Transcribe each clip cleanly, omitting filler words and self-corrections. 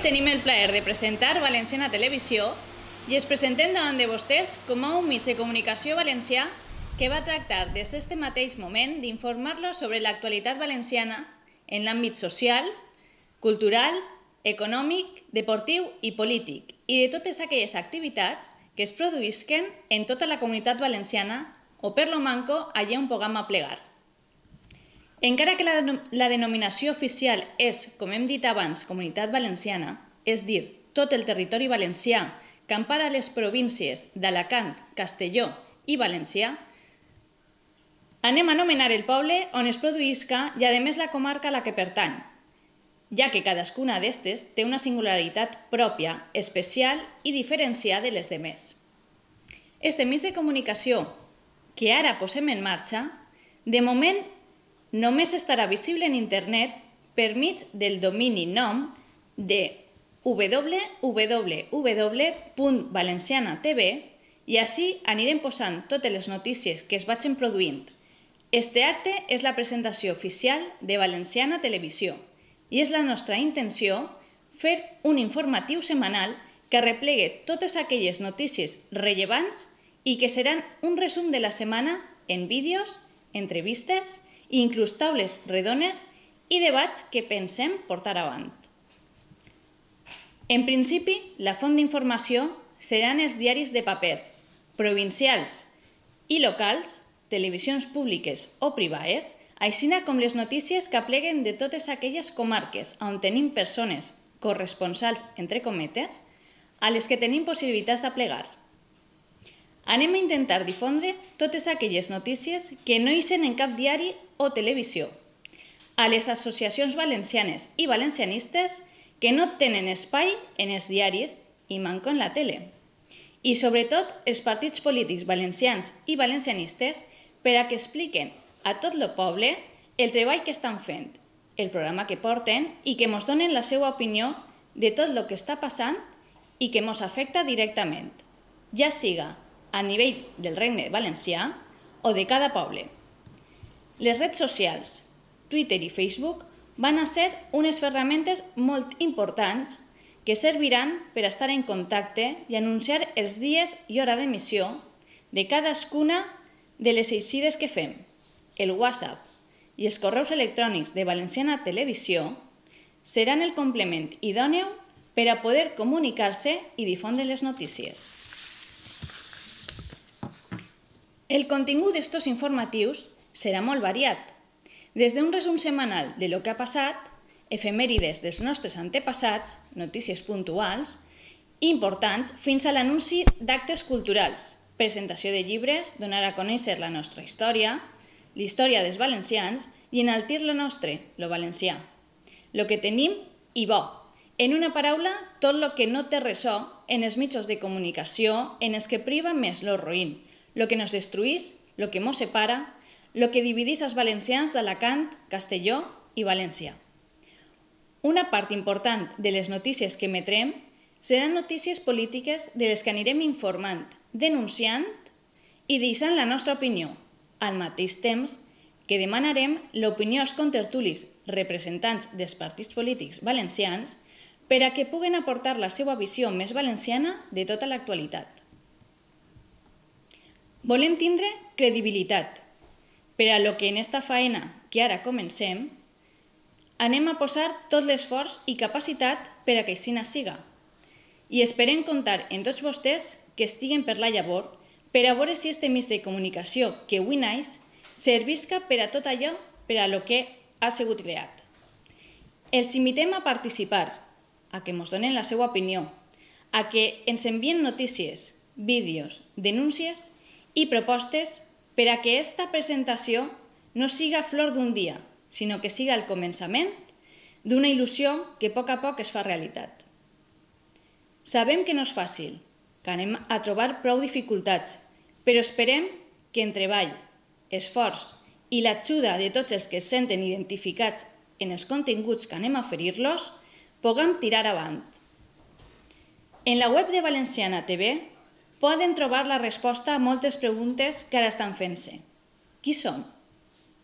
tenim el plaer de presentar Valenciana Televisió i es presentem davant de vostès com a un mitjà de comunicació valencià que va tractar des d'aquest mateix moment d'informar-los sobre l'actualitat valenciana en l'àmbit social, cultural, econòmic, deportiu i polític i de totes aquelles activitats que es produïsquen en tota la comunitat valenciana o per lo manco allà on puguem aplegar. Encara que la denominació oficial és, com hem dit abans, Comunitat Valenciana, és dir, tot el territori valencià que empara les províncies d'Alacant, Castelló i València, anem a anomenar el poble on es produïsca i, a més, la comarca a la que pertany, ja que cadascuna d'estes té una singularitat pròpia, especial i diferenciada de les demés. Este mitjà de comunicació que ara posem en marxa, de moment només estarà visible en internet per mig del domini nom de www.valenciana.tv i així anirem posant totes les notícies que es vagin produint. Este acte és la presentació oficial de Valenciana Televisió i és la nostra intenció fer un informatiu setmanal que arreplegue totes aquelles notícies rellevants i que seran un resum de la setmana en vídeos, entrevistes i inclús taules redones i debats que pensem portar avant. En principi, la font d'informació seran els diaris de paper, provincials i locals, televisions públiques o privades, així com les notícies que apleguen de totes aquelles comarques on tenim persones, corresponsals, entre cometes, a les que tenim possibilitats d'aplegar. Anem a intentar difondre totes aquelles notícies que no ixen en cap diari o televisió, a les associacions valencianes i valencianistes que no tenen espai en els diaris i manco en la tele, i sobretot els partits polítics valencians i valencianistes per a que expliquen a tot el poble el treball que estan fent, el programa que porten i que ens donen la seva opinió de tot el que està passant i que ens afecta directament, ja siga a nivell del Regne Valencià o de cada poble. Les redes socials, Twitter i Facebook, van a ser unes ferramentes molt importants que serviran per estar en contacte i anunciar els dies i hora d'emissió de cadascuna de les eixides que fem. El WhatsApp i els correus electrònics de Valenciana Televisió seran el complement idòneu per a poder comunicar-se i difondre les notícies. El contingut d'estos informatius serà molt variat, des d'un resum setmanal de lo que ha passat, efemèrides dels nostres antepassats, notícies puntuals, importants, fins a l'anunci d'actes culturals, presentació de llibres, donar a conèixer la nostra història, la història dels valencians i enaltir lo nostre, lo valencià. Lo que tenim i bo. En una paraula, tot lo que no té ressò en els mitjans de comunicació en els que priva més lo roïn, lo que nos destruís, lo que mos separa, lo que dividís els valencians d'Alacant, Castelló i València. Una part important de les notícies que emetrem seran notícies polítiques de les que anirem informant, denunciant i deixant la nostra opinió, al mateix temps que demanarem l'opinió als contertulis representants dels partits polítics valencians per a que puguen aportar la seva visió més valenciana de tota l'actualitat. Volem tindre credibilitat, per a lo que en esta faena que ara comencem, anem a posar tot l'esforç i capacitat per a que així siga. I esperem comptar en tots vostès que estiguen per la llavor per a veure si este mitjà de comunicació que avui naix servisca per a tot allò per a lo que ha sigut creat. Els invitem a participar, a que ens donen la seva opinió, a que ens envien notícies, vídeos, denúncies i propostes per a que esta presentació no siga flor d'un dia, sinó que siga el començament d'una il·lusió que a poc es fa realitat. Sabem que no és fàcil, que anem a trobar prou dificultats, però esperem que en treball, esforç i l'ajuda de tots els que es senten identificats en els continguts que anem a oferir-los, puguem tirar avant. En la web de Valenciana TV poden trobar la resposta a moltes preguntes que ara estan fent-se. Qui som?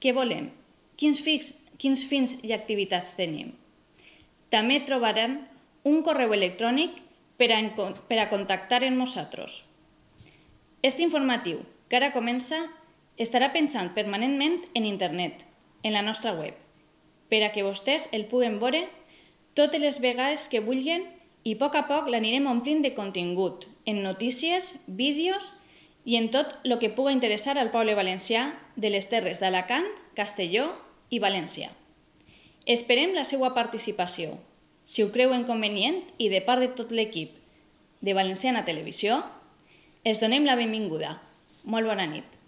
Què volem? Quins fins i activitats tenim? També trobaran un correu electrònic per a contactar amb nosaltres. Este informatiu, que ara comença, estarà penjant permanentment en internet, en la nostra web, per a que vostès el puguen veure totes les vegades que vulguin i a poc l'anirem omplint de contingut, en notícies, vídeos i en tot el que pugui interessar al poble valencià de les terres d'Alacant, Castelló i València. Esperem la seva participació. Si ho creuen convenient i de part de tot l'equip de Valenciana Televisió, els donem la benvinguda. Molt bona nit.